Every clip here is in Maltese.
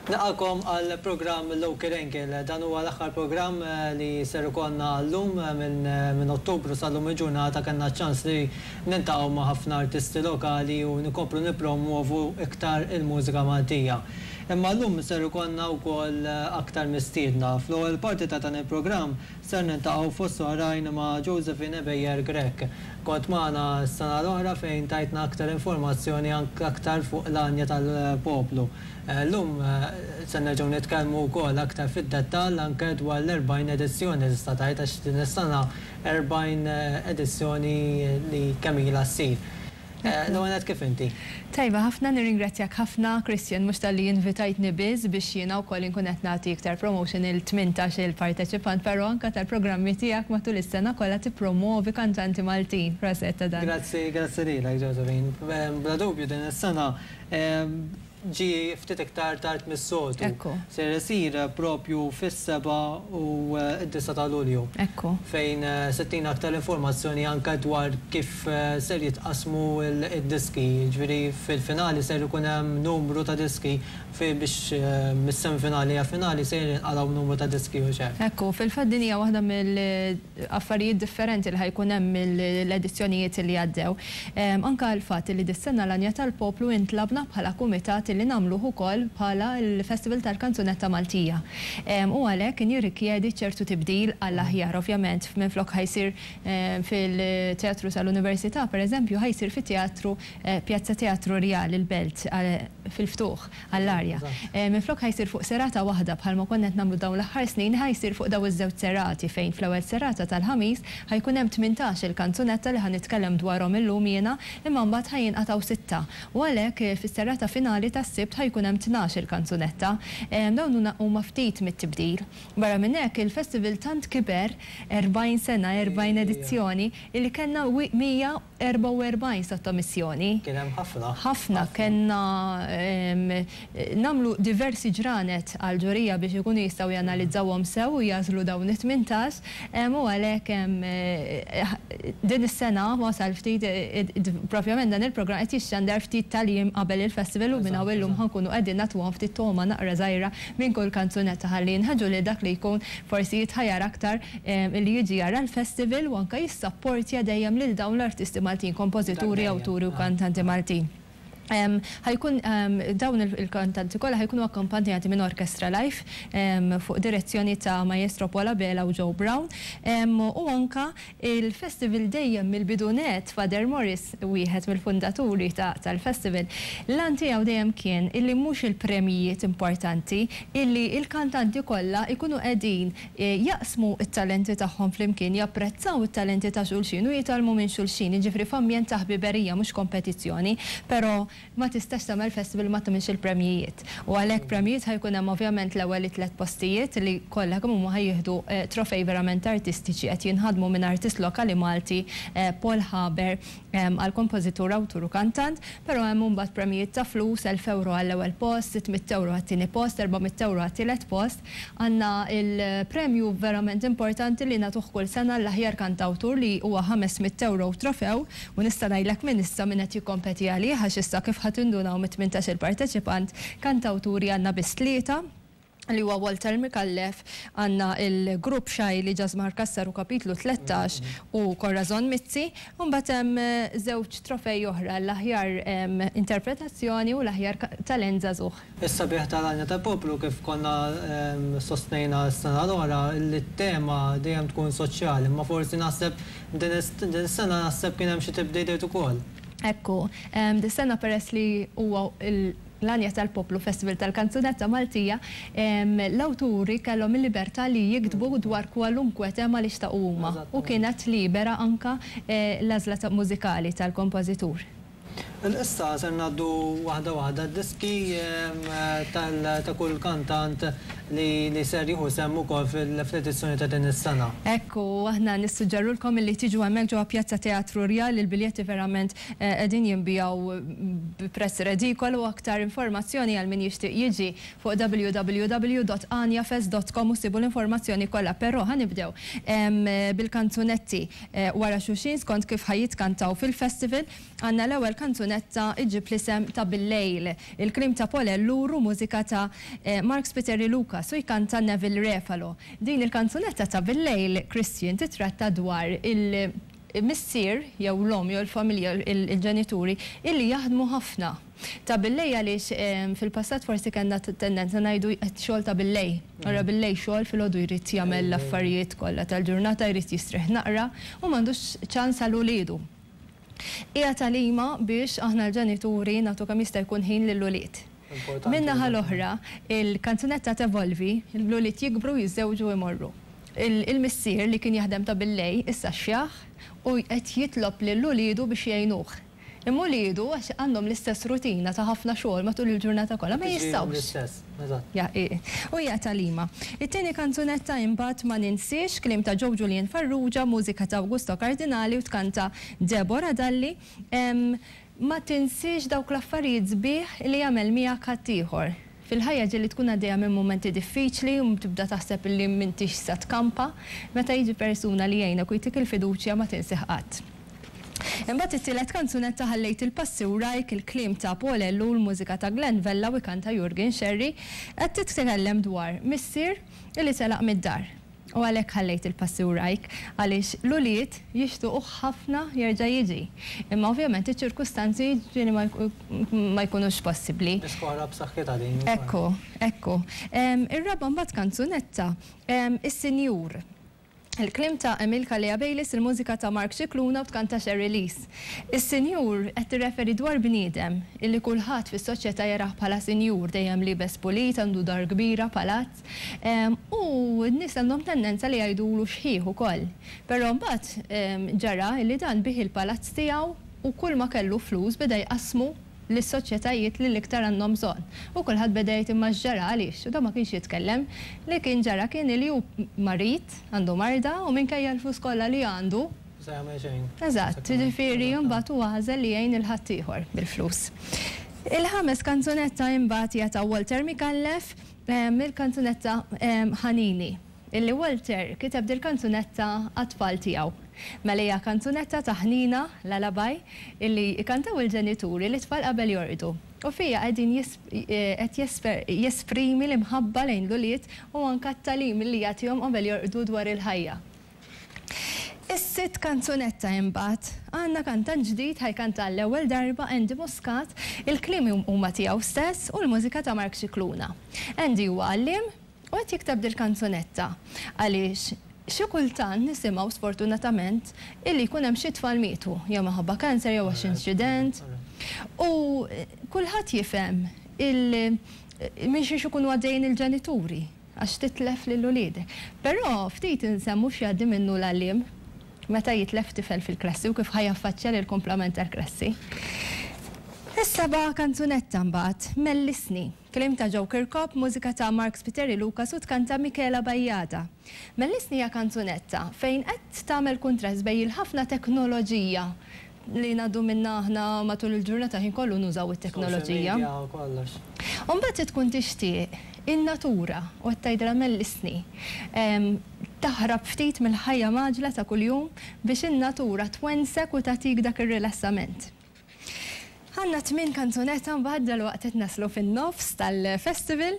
Nilqagħkom għal programm Local Angle. Dan huwa l-aħħar programm li ser ikollna llum minn Ottubru sal-lum il-ġurnata kellna ċ-ċans li niltaqgħu ma' ħafna artisti lokali u nkomplu nippromwovu iktar il-mużika Maltija. Imma llum ser ikollna wkoll aktar mistiedna. Fl-ewwel parti ta' dan il-programm ser niltaqgħu fost oħrajn ma' Josephine Ebejer Grech. Kont magħna s-sena l-oħra fejn tajtna aktar informazzjoni anke aktar fuq l-għanja tal-poplu. Llum se nerġgħu nitkellmu wkoll aktar fid-dettall anke dwar l-40 edizzjoni tista' tgħid għax din is-sena 40 edizzjoni li kemm ilha ssir. L-ewwel nett kif inti? Tajba ħafna, nirringrazzjak ħafna Christian mhux talli invitajtni biss biex jiena wkoll inkun qed nagħti iktar promotion il-18 il-parteċipant però anke tal-programmi tiegħek matul is-sena kollha tippromwovi kantanti Maltin. Proset ta' dan. Grazzi, grazzi lilek Josephine. Bla dubju din is-sena ġie ftit iktar tard mis-soltu. Ekku. Ser isir propju fis-7 u d-9 ta' Lulju. Ekku. Fejn se ttina aktar informazzjoni anke dwar kif ser jitqassmu d-diski. Jiġifieri fil-finali ser ikun hemm numru ta' diski biex mis-semifinali għall-finali ser jinqalgħu numru ta' diski u x'hekk. Ekku, fil-fatt din hija waħda mill-affarijiet differenti li ħa jkun hemm mill-edizzjonijiet li għaddew. Anke l-fatt li dis-sena l-Għanja tal-Poplu intlabna bħala kumitat li nagħmluh ukoll bħala l-Festival tal-Kanzunetta Maltija. U għalhekk kien jirrikjedi ċertu tibdil għall-aħjar. Ovvjament minflok ħa jsir fil-Teatru tal-Università, pereżempju, ħa jsir fit-Teatru Pjazza Teatru Rjal, il-Belt, fil-ftuħ għall-arja. Minflok ħa jsir fuq serata waħda bħalma konna qed nagħmlu dawn l-aħħar snin, ħa jsir fuq dawn iż-żewġ serati fejn fl-ewwel serata tal-Ħamis ħa jkun hemm 18-il kanzunetta li ħa nitkellem dwarhom illum jiena, imma mbagħad ħa jinqatgħu sitta. U għalhekk fis-serata finali tas-Sibt ħa jkun hemm 12-il kanzunetta. Dawn huma ftit mit-tibdil. Barra minn hekk, il-festival tant kiber, 40 sena, 40 edizzjoni, illi kellna 144 sottomissjoni. Kien hemm ħafna. Ħafna. Kellna nagħmlu diversi ġranet għall-ġurija biex ikunu jistgħu janalizzawhom sew u jagħżlu dawn it-18 u għalhekk din is-sena wasal ftit propjament dan il-programm qed jixxandar ftit tal-jiem qabel il-festival u minn hawn illum ħa nkunu qegħdin nagħtuhom ftit togħma naqra żgħira minn kull kanzunetta ħalli jinħeġġu lil dak li jkun forsi jitħajjar aktar li jiġi jara l-festival u anke jissapportja dejjem lil dawn l-artisti Maltin, kompożituri, awturi u kantanti Maltin. Ħa jkun dawn il-kantanti kollha ħa jkunu akkompanjati minn orkestra live fuq direzzjoni ta' Maestro Paul Abela u Joe Brown u anke il-festival dejjem mill-bidu nett Father Morris wieħed mill-fundaturi tal-festival, l-għan tiegħu dejjem kien illi mhux il-premjijiet importanti, illi l-kantanti kollha jkunu qegħdin jaqsmu t-talenti tagħhom flimkien, japprezzaw it-talenti ta' xulxin u jitgħallmu minn xulxin, jiġifieri f'ambjent ta' ħbiberija mhux kompetizzjoni, però ma tistax tagħmel festival u ma tagħmilx il-premjijiet. U għalhekk premjijiet ħa jkun hemm ovvjament l-ewwel it-tlett postijiet li kollha kemm huma ħa jieħdu trofej verament artistiċi qed jinħadmu minn artist lokali Malti Paul Haber għal kompożitur, awtur u kantant, però hemm imbagħad premjijiet ta' flus, 1,000 ewro għall-ewwel post, 600 ewro għat-tieni post, 400 ewro għat-tielet post. Għandna l-premju verament importanti li nagħtuh kull sena l-aħjar kantawtur li huwa 500 ewro u trofew u nista' ngħidlek minn issa min qed jikkompeti għalih għax issa kif ħa tindunaw mit-18-il parteċipant, kantawturi għandna biss tlieta li huwa Walter Micallef, għandna l-grupp Xajli, Ġasmar Cassar u Kapitlu 13 u Corazon Mizzi, u mbagħad hemm żewġ trofej oħra, l-aħjar interpretazzjoni u l-aħjar talent żagħżugħ. Is-sabiħ tal-Għanja tal-Poplu kif konna sostnejna s-sena l-oħra li t-tema dejjem tkun soċjali, imma forsi naħseb din is-sena naħseb kien hemm xi tibdiliet ukoll. Ekku, dis-sena peress li huwa l-Għanja tal-Poplu Festival tal-Kanzunetta Maltija, l-awturi kellhom il-libertà li jiktbu dwar kwalunkwe tema li xtaqu huma u kienet libera anke l-għażla mużikali tal-kompożitur. Issa ser ngħaddu waħda waħda d-diski ta' kull kantant li ser jieħu sehem ukoll fl-edizzjoni ta' din is-sena. Ekku, aħna nissuġġerulkom illi tiġu hemmhekk ġewwa Pjazza Teatru Rjal, il-biljetti verament qegħdin jinbiegħu bi prezz redikolu. Aktar informazzjoni għal min jixtieq jiġi fuq www.aniafest.com u ssibu l-informazzjoni kollha. Però ħa nibdew bil-kanzunetti wara xulxin skont kif ħa jitkantaw fil-festival. Għandna l-ewwel kanzunetta iġġib l-isem ta' Bil-Lejl. Il-kliem ta' Paul Ellul u mużika ta' Mark Spiteri Lucas u jkanta Neville Refalo. Din il-kanzunetta ta' Bil-Lejl, Christian, titratta dwar il-missier jew l-omm jew il-familja, il-ġenituri illi jaħdmu ħafna. Ta' billejl għaliex fil-passat forsi kellna tendenza ngħidu xogħol ta' billejl. Ora billejl xogħol, filgħodu jrid jagħmel l-affarijiet kollha tal-ġurnata, jrid jistrieħ naqra u m'għandux ċans għal uliedu. Hija tagħlima biex aħna l-ġenituri nagħtu kemm jista' jkun ħin lill-ulied. Min-naħa l-oħra, il-kanzunetta tevolvi, l-ulied jikbru, jiżżewġu u jmorru. Il-missier li kien jaħdem ta' billejl issa xjaħ u qed jitlob lil uliedu biex jgħinuh. Imma uliedu, għax għandhom l-istess rutina ta' ħafna xogħol matul il-ġurnata kollha, ma jistgħux. U hija tagħlima. It-tieni kanzunetta imbagħad Ma Ninsiex, kliem ta' Joe Julian Farrugia, mużika ta' Augusto Cardinali u tkanta Deborah Dalli. Ma tinsiex dawk l-affarijiet sbieħ li jagħmel miegħek ħaddieħor. Fil-ħajja ġieli tkun għaddejja minn mumenti diffiċli u tibda taħseb li m'intix se tkampa. Meta jiġi persuna li jgħinek u jtik il-fiduċja ma tinsih qatt. Imbagħad it-tielet kanzunetta Ħallejt il-passi wrajk, il-kliem ta' Paul Ellul, mużika ta' Glenn Vella u jkanta Jurgen Scerri, qed titkellem dwar missier li telaq mid-dar. U għalhekk ħallejt il-passi wrajk, għaliex l-ulied jixtuquh ħafna jerġa' jiġi. Imma ovvjament iċ-ċirkustanzi ġieli ma jkunux possibbli. Diska oħra b'saħħitha din. Ekku, ekku. Ir-raba' mbagħad kanzunetta, Is-Sinjur. Il-kliem ta' Emil Calleja Bayliss, il-mużika ta' Mark Scicluna u tkanta Sherry Lees. Is-Sinjur qed tirreferi dwar bniedem illi kulħadd fis-soċjetà jarah bħala sinjur, dejjem liebes pulit, għandu dar kbira, palazz. U n-nies għandhom tendenza li jgħidulu xħiħ ukoll. Però mbagħad ġara illi dan biegħ il-palazz tiegħu u kulma kellu flus beda jqassmu lis-soċjetajiet li l-iktar għandhom bżonn. U kulħadd beda jgħid imma x'ġara għaliex? U dan ma kienx jitkellem. Li kien ġara kien li hu marid, għandu marda u minkejja l-flus kollha li għandu, Mhu se jagħmel xejn. Eżatt, jiġifieri mbagħad hu għażel li jgħin lil ħaddieħor bil-flus. Il-ħames kanzunetta imbagħad hija ta' Walter Micallef, il-kanzunetta Ħanini. Illi Walter kiteb dil-kanzunetta għat-tfal tiegħu. Mela hija kanzunetta ta' ħnina, lullaby, illi jkantaw il-ġenituri lit-tfal qabel jorqdu. U fiha qegħdin qed jesprimi l-imħabba lejn l-ulied u anke t-tagħlim illi jagħtihom qabel jorqdu dwar il-ħajja. Is-sitt kanzunetta imbagħad, għandna kantant ġdid ħa jkanta għall-ewwel darba, Andy Muscat, il-kliem huma tiegħu stess u l-mużika ta' Mark Scicluna. Andy huwa għalliem, U qed jikteb dil-kanzunetta għaliex xi kultant nisimgħu sfortunatament illi jkun hemm xi tfal mietu, jew minħabba cancer jew għax inċident. U kulħadd jifhem il minn xiex ikunu għaddejjin il-ġenituri għax titlef lil uliedek. Però ftit insemmu x'jgħaddi minnu l-għalliem meta jitlef tifel fil-klassi u kif ħa jaffaċċja lill-kumplament tal-klassi. Is-seba' kanzunetta mbagħad, Mellisni. Kliem ta' Joe Kirkop, mużika ta' Mark Spiteri Lucas u tkanta Michela Bajada. Mellisni hija kanzunetta fejn qed tagħmel kuntrast bejn il-ħafna teknoloġija li ngħaddu minnha aħna matul il-ġurnata ħin kollu nużaw it-teknoloġija. Social media u kollox. U mbagħad tkun tixtieq in-natura u qed tgħidilha mellisni. Taħrab ftit mill-ħajja mgħaġġla ta' kuljum biex in-natura twensek u tagħtik dak ir-rilassament. Għandna tmien kanzunetta mbagħad dalwaqt qed naslu fin-nofs tal-festival.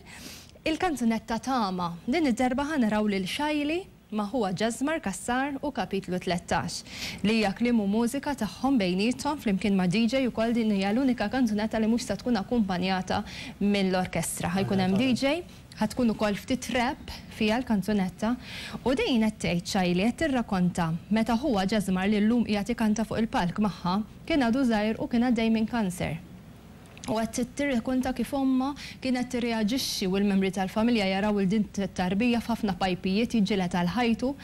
Il-kanzunetta Tama. Din id-darba ħa naraw lil Shaili ma' ħuha Jasmar Cassar u Kapitlu 13, li hija kliem u mużika tagħhom bejniethom flimkien ma' DJ ukoll din hija l-unika kanzunetta li mhux se tkun akkumpanjata mill-orkestra. Ħa jkun hemm DJ, ħa tkun ukoll ftit rap fiha l-kanzunetta u din qed tgħid Shaili qed tirrakonta meta ħuha Jasmar li llum qiegħed ikanta fuq il-palk magħha Kien għadu żgħir u kien għaddej minn kanser. U qed tirrakonta kif ommha kienet tirreaġixxi u l-membri tal-familja jaraw 'il din t-tarbija f'ħafna pajpijiet jiġġieled għal ħajtu.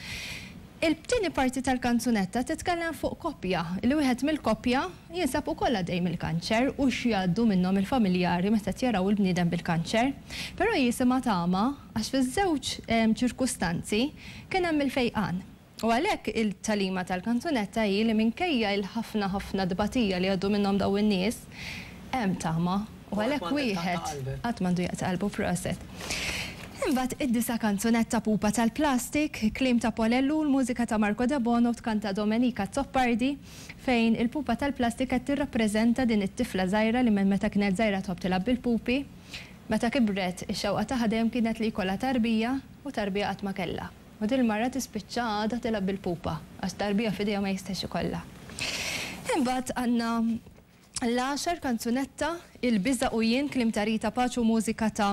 Il-tieni parti tal-kanzunetta titkellem fuq koppja, li wieħed mill-koppja jinsab ukoll għaddej mill-kanċer u x'jgħaddu minnhom il-familjari meta qed jaraw il-bniedem bil-kanċer. Però jisimha tama għax fiż-żewġ ċirkustanzi kien hemm il-fejqan. U għalhekk il-tagħlima tal-kanzunetta hi li minkejja il-ħafna ħafna tbatija li jgħaddu minnhom dawn in-nies, hemm tama. U għalhekk wieħed qatt m'għandu jaqta' qalbu proset. Imbagħad id-disa' kanzunetta Pupa tal-Plastik, kliem ta' Paul Ellul, mużika ta' Marco Debono u tkanta Domenica Azzopardi, fejn il-pupa tal-plastik qed tirrappreżenta din it-tifla żgħira li minn meta kienet żgħira tħobb tilgħab bil-pupi. Meta kibret, ix-xewqa tagħha dejjem kienet li jkollha tarbija u tarbija qatt ma kellha. U din il-mara tispiċċa għadha tilgħab bil-pupa għax tarbija f'idejha ma jistax ikollha. Imbagħad għandna l-għaxar kanzunetta, Il-Biża' u Jien, kliem ta' Rita Pace u mużika ta'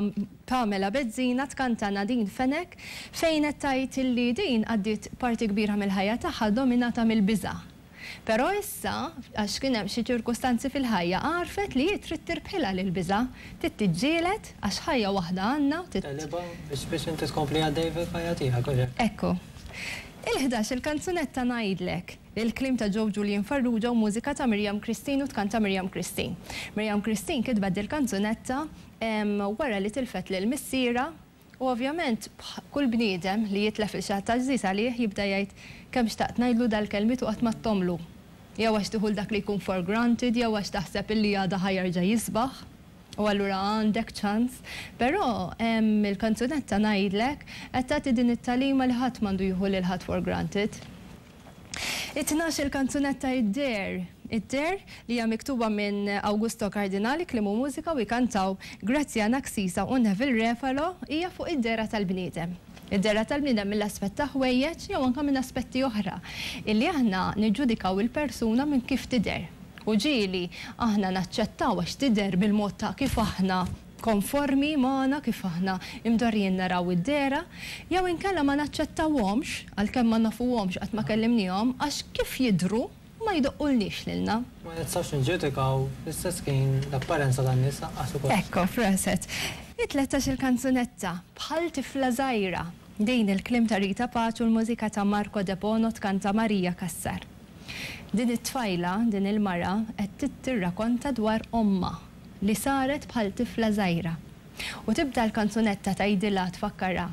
Pamela Bezzina, tkanta Nadine Fenech, fejn qed tgħid illi din għaddiet parti kbira mill-ħajja tagħha dominata mill-biża'. Però issa, għax kien hemm xi ċirkustanzi fil-ħajja, għarfet li hi trid tirbħilha lill-biża', trid tiġġieled għax ħajja waħda għandna u trid. Tegħlibha biex biex inti tkompli għaddej fil-ħajja tiegħek, u hekk. Ekku. Il-11 il-kanzunetta Ngħidlek, il-kliem ta' Joe Julian Farrugia u mużika ta' Miriam Christine u tkanta Miriam Christine. Miriam Christine kitbet dil-kanzunetta wara li tilfet lil missierha U ovvjament kull bniedem li jitlef lil xi ħadd għażiż għalih jibda jgħid kemm xtaqt ngħidlu dal-kelmiet u qatt m'għadthomlu. Jew għax tieħu 'l dak li jkun for granted jew għax taħseb illi għada ħa jerġa' jisbaħ u allura għandek ċans. Però il-kanzunetta ngħidlek qed tagħti din it-tagħlima li ħadd m'għandu jieħu lil ħadd for granted. It-tnax-il kanzunetta Id-Deher, Id-Deher, li hija miktuba minn Augusto Cardinali, kliem u mużika, u jkantaw Graziana Xisa u Neville Refalo, hija fuq id-dehra tal-bniedem. Id-dehra tal-bniedem mill-aspett ta' ħwejjeġ jew anke minn aspetti oħra, illi aħna niġġudikaw il-persuna minn kif tidher. U ġieli aħna naċċettaw għax tidher bil-mod ta' kif aħna konformi magħna kif aħna imdorrijin naraw id-dehra, jew inkella ma naċċettawhomx, għalkemm ma nafuhomx qatt ma kellimniehom, għax kif jidhru ma jdoqqulniex lilna. Ma nistgħux niġġudikaw fl-istess ħin l-apparenza tan-nies lanqas ukoll. Ekku, proset. It-tlettax-il kanzunetta, Bħal tifla żgħira. Din il-kliem ta' Rita Pace u l-mużika ta' Marco Debono tkanta Maria Cassar. Din it-tfajla, din il-mara, qed tirrakonta dwar ommha. Li saret bħal tifla żgħira. U tibda l-kanzunetta tgħidilha, tfakkarha,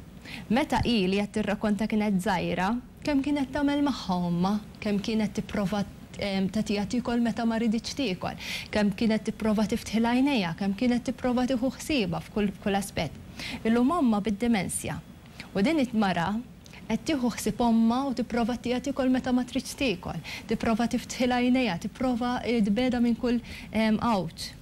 meta hi li qed tirrakonta kienet żgħira, kemm kienet tagħmel magħha ommha, kemm kienet tipprova tagħtiha tiekol meta ma riditx tiekol, kemm kienet tipprova tiftħilha għajnejha, kemm kienet tipprova tieħu ħsiebha f'kull aspett. Illum ommha bid-dimensja. U din it-mara qed tieħu ħsieb ommha u tipprova ttiha tiekol meta ma tridx tiekol, tipprova tiftħilha għajnejha, tipprova tbegħdha minn kull għawġ.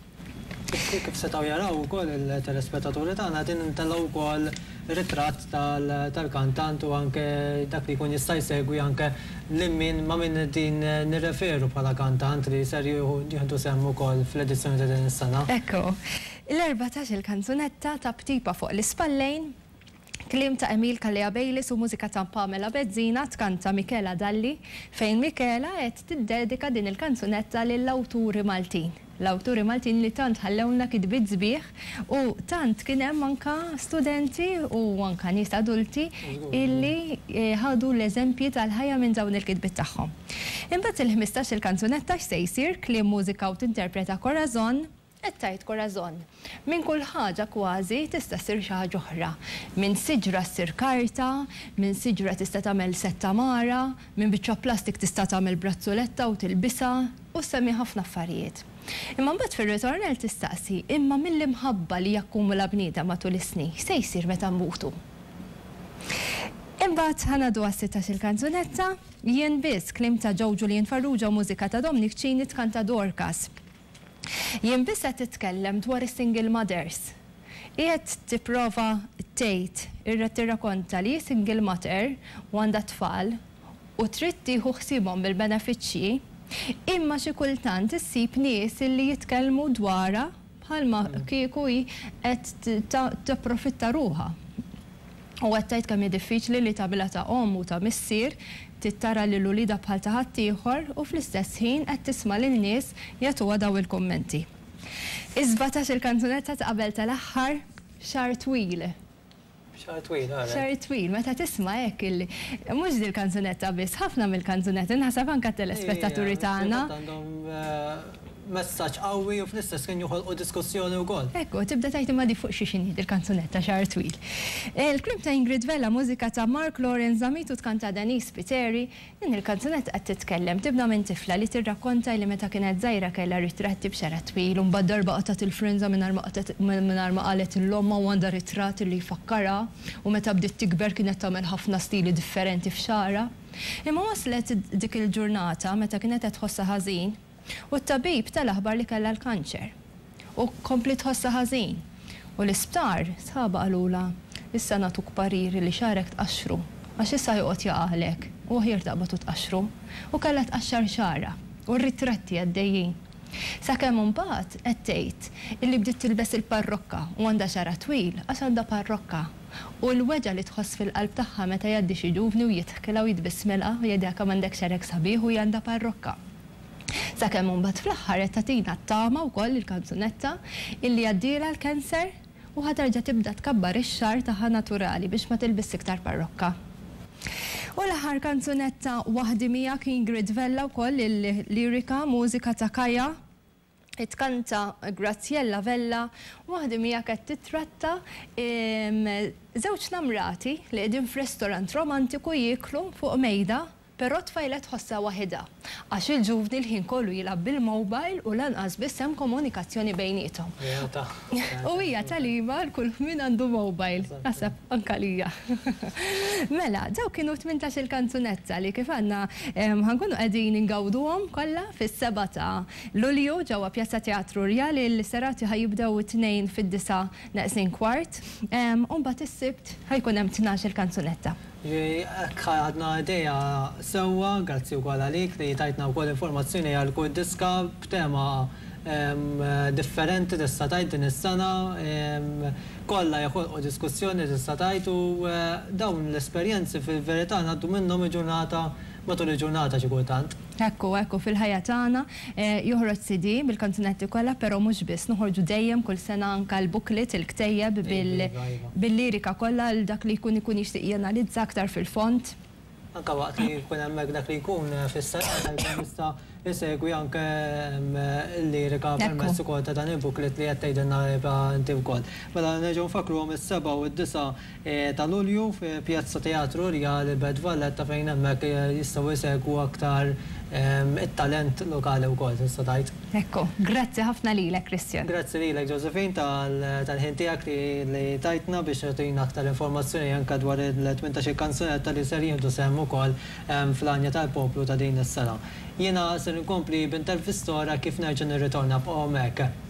Kif setgħu jaraw ukoll il-telespettaturi tagħna qegħdin intellgħu wkoll ritratt tal-kantant u anke dak li jkun jista' jsegwi anke lil min ma' min qegħdin nirreferu bħala kantant li ser jieħdu sehem ukoll fl-edizzjoni ta' din is-sena. Ekku. L-14 il-kanzunetta Taptipa fuq l-ispallejn Kliem ta' Emil Calleja Bayliss u mużika ta' Pamela Bezzina tkanta Michela Dalli, fejn Michela qed tiddedika din il-kanzunetta lill-awturi Maltin. L-awturi Maltin li tant ħallewlna kitbiet sbieħ u tant kien hemm anke studenti u anke nies adulti illi ħadu l-eżempji tal-ħajja minn dawn il-kitbiet tagħhom. Imbagħad il-ħmistax-il kanzunetta x'se jsir, kliem, mużika u tinterpreta Corazon, Qed tgħid Corazon. Minn kull ħaġa kważi tista' ssir xi ħaġa oħra. Minn siġra ssir karta, minn siġra tista' tagħmel sett għamara, minn biċċa plastik tista' tagħmel brazzuletta u tilbisha, u ssemmi ħafna affarijiet. Imma mbagħad fir-ritornell tistaqsi, imma mill-imħabba li jakkumula bniedem matul is-snin, x'se jsir meta nmutu? Imbagħad ħa ngħaddu għas-sittax-il kanzunetta, Jien Biss, kliem ta' Joe Julian Farrugia u mużika ta' Dominic Cini tkanta Dorcas. Jien biss qed titkellem dwar is-single mothers. Qiegħed tipprova tgħid, irrid tirrakonta li hi single mother u għandha t-tfal u trid tieħu ħsiebhom bil-benefiċċji, imma xi kultant issib nies illi jitkellmu dwarha bħalma kieku hi qed tapprofitta ruħha. U qed tgħid kemm hi diffiċli li tagħmilha ta' omm u ta' missier, trid tara lil uliedha bħal ta' ħaddieħor u fl-istess ħin qed tisma' lil nies jagħtuha dawn il-kummenti. Is-sbatax-il kanzunetta ta' qabel tal-aħħar, Xahar Twil. Xagħar twil, ara. Xagħar twil, meta tisma' hekk il mhux dil-kanzunetta biss, ħafna mill-kanzunetti, naħseb anke t-telespettaturi tagħna. Għandhom messaġġ qawwi u fl-istess ħin joħolqu diskussjoni wkoll. Ekku, tibda tgħid imma di fuq xiex inhi dil-kanzunetta Xagħar Twil. Il-kliem ta' Ingrid Vella, mużika ta' Mark Lawrence Zammit u tkanta Denise Spiteri. Din il-kanzunetta qed titkellem, tibda minn tifla li tirrakkonta li meta kienet żgħira kellha ritratti b'xagħarha twil u mbagħad darba qatgħet il-frinża mingħajr ma qatgħet mingħajr ma qalet lil ommha u għandha ritratt li jfakkarha u meta bdiet tikber kienet tagħmel ħafna stili differenti f'xagħarha. Imma waslet dik il-ġurnata meta kienet qed tħossha ħażin U t-tabib ta l-aħbar li kellha l-kanċer. U kompliet tħossha ħażin. U l-isptar, sħabha qalulha, issa nagħtuk parir li xagħrek tqaxxru, għax issa joqgħod jaqagħlek, u aħjar taqbad u tqaxxru. U kellha tqaxxar xagħarha. U r-ritratti għaddejjin. Sakemm imbagħad qed tgħid illi bdiet tilbes il-parrokka u għandha xagħarha twil għax għandha parrokka. U l-weġgħa li tħoss fil-qalb tagħha meta jgħaddi xi ġuvni u jidħkilha u jitbissmilha u jgħidilha kemm għandek xagħrek sabiħ u hi għandha parrokka. Sakemm imbagħad fl-aħħar qed tagħtina t-tama wkoll il-kanzunetta illi għaddielha l-cancer u ħa terġa' tibda tkabbar ix-xagħar tagħha naturali biex ma tilbisx iktar parrokka. U l-aħħar kanzunetta Waħdi Miegħek Ingrid Vella wkoll il-lirika, mużika ta' Kaya, tkanta Graziella Vella, Waħdi Miegħek qed titratta żewġ namrati li qegħdin f'restorant romantiku jieklu fuq mejda. Però t-tfajla tħossha waħidha, għax il-ġuvni l-ħin kollu jilgħab bil-mobile u lanqas biss hemm komunikazzjoni bejniethom. U hija tagħlima għal kull min għandu mobile, naħseb anke għalija. Mela, dawk kienu 18-il kanzunetta li kif għandna ħa nkunu qegħdin ingawduhom kollha fis-sebgħa ta' Lulju ġewwa Pjazza Teatru Rjali. Il-serati ħa jibdew it-Tnejn fid-disgħa neqsin kwart u mbagħad is-Sibt ħa jkun hemm 12-il kanzunetta. Hekk ħadna idea sewwa, grazzi wkoll għalik li tajtna wkoll informazzjoni għal kull diska b'tema differenti tista' tgħid din is-sena. Kollha joħolqu diskussjoni tista' tgħid u dawn l-esperjenzi fil-verità ngħaddu minnhom il-ġurnata matul il-ġurnata xi kultant. Hekk hu, hekk hu, fil-ħajja tagħna joħroġ CD bil-kanzunetti kollha, però mhux biss, noħorġu dejjem kull sena anke l-booklet, il-ktejjeb bil-lirika kollha għal dak li jkun ikun jixtieq janalizza aktar fil-fond. Anke waqt li jkun hemmhekk dak li jkun fis-serata jkun jista' jsegwi anke l-lirika permezz ukoll ta' dan il-booklet li qed tgħidilna Eva inti wkoll. Mela nerġgħu nfakkruhom is-sebgħa u d-disgħa ta' Lulju fi Pjazza Teatru Rjali Belt Valletta fejn hemmhekk jistgħu jsegwu aktar it-talent lokali wkoll tista' tgħid. Hekk hu. Grazzi ħafna lilek Christian. Grazzi lilek Josephine tal-ħin tiegħek li tajtna biex tagħtina aktar informazzjoni anke dwar il-18-il kanzunetta li ser jieħdu sehem ukoll fl-Għanja tal-Poplu ta' din is-sena. Jiena ser inkompli b'intervista oħra kif nerġa' nirritorna. Bqgħu hemmhekk.